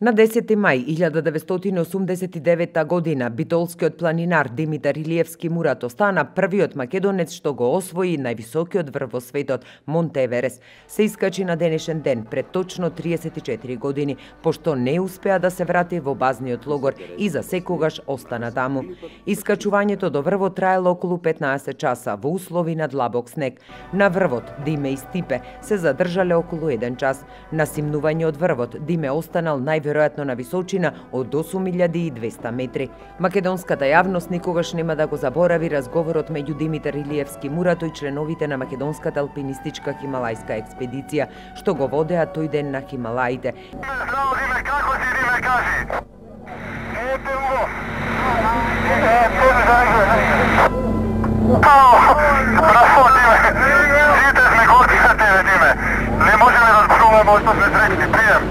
На 10. мај 1989 година битолскиот планинар Димитар Илиевски Мурато стана првиот македонец што го освои највисокиот врв во светот, Монте Еверест. Се искачи на денешен ден пред точно 34 години, пошто не успеа да се врати во базниот логор и за секогаш остана таму. Искачувањето до врвот траело околу 15 часа во услови на длабок снег. На врвот Диме и Стипе се задржале околу 1 час. На симнување од врвот Диме останал најверојатно на височина од 8200 метри. Македонската јавност никогаш нема да го заборави разговорот меѓу Димитар Илиевски Мурато и членовите на македонската алпинистичка хималајска експедиција, што го водеа тој ден на Хималаите. Здраво, Диме, како си, Диме, кажи? Браво, Диме, сите сме горди за тебе, Диме. Не можеме да зборуваме што сме среќни, пријем.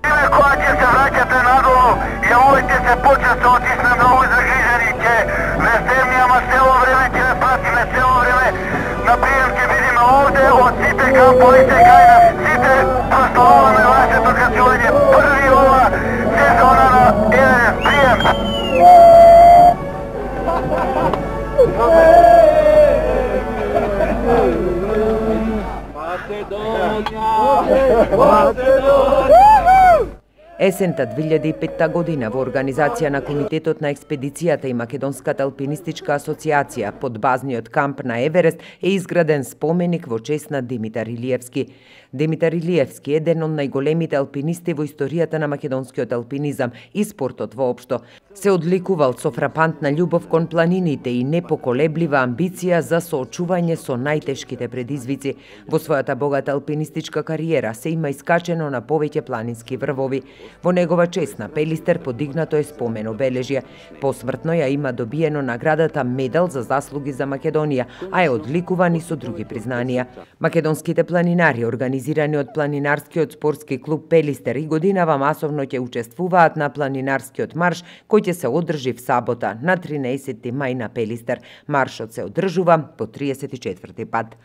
Диме, кога ќе се враќате надолу, јавувајте се почесто, оти сме многу загрижени, ќе не стемни, ама цело време ќе ве пратиме, цело време на прием ќе видиме овде, од сите камповите кај нас, сите прославуваме вашето кацување, први ова сезона на Еверест, прием! Есента 2005 година во организација на Комитетот на експедицијата и Македонската алпинистичка асоциација под базниот камп на Еверест е изграден споменик во чест на Димитар Илиевски. Димитар Илиевски е еден од најголемите алпинисти во историјата на македонскиот алпинизам и спортот воопшто. Се одликувал со фрапантна љубов кон планините и непоколеблива амбиција за соочување со најтешките предизвици. Во својата богата алпинистичка кариера се има искачено на повеќе планински врвови. Во негова чест на Пелистер подигнато е спомен обележје. Посмртно ја има добиено наградата Медал за заслуги за Македонија, а е одликуван и со други признанија. Македонските планинари, организирани од планинарскиот спортски клуб Пелистер, и годинава масовно ќе учествуваат на планинарскиот марш кој ќе се одржи в сабота на 13. мај на Пелистер. Маршот се одржува по 34 пат.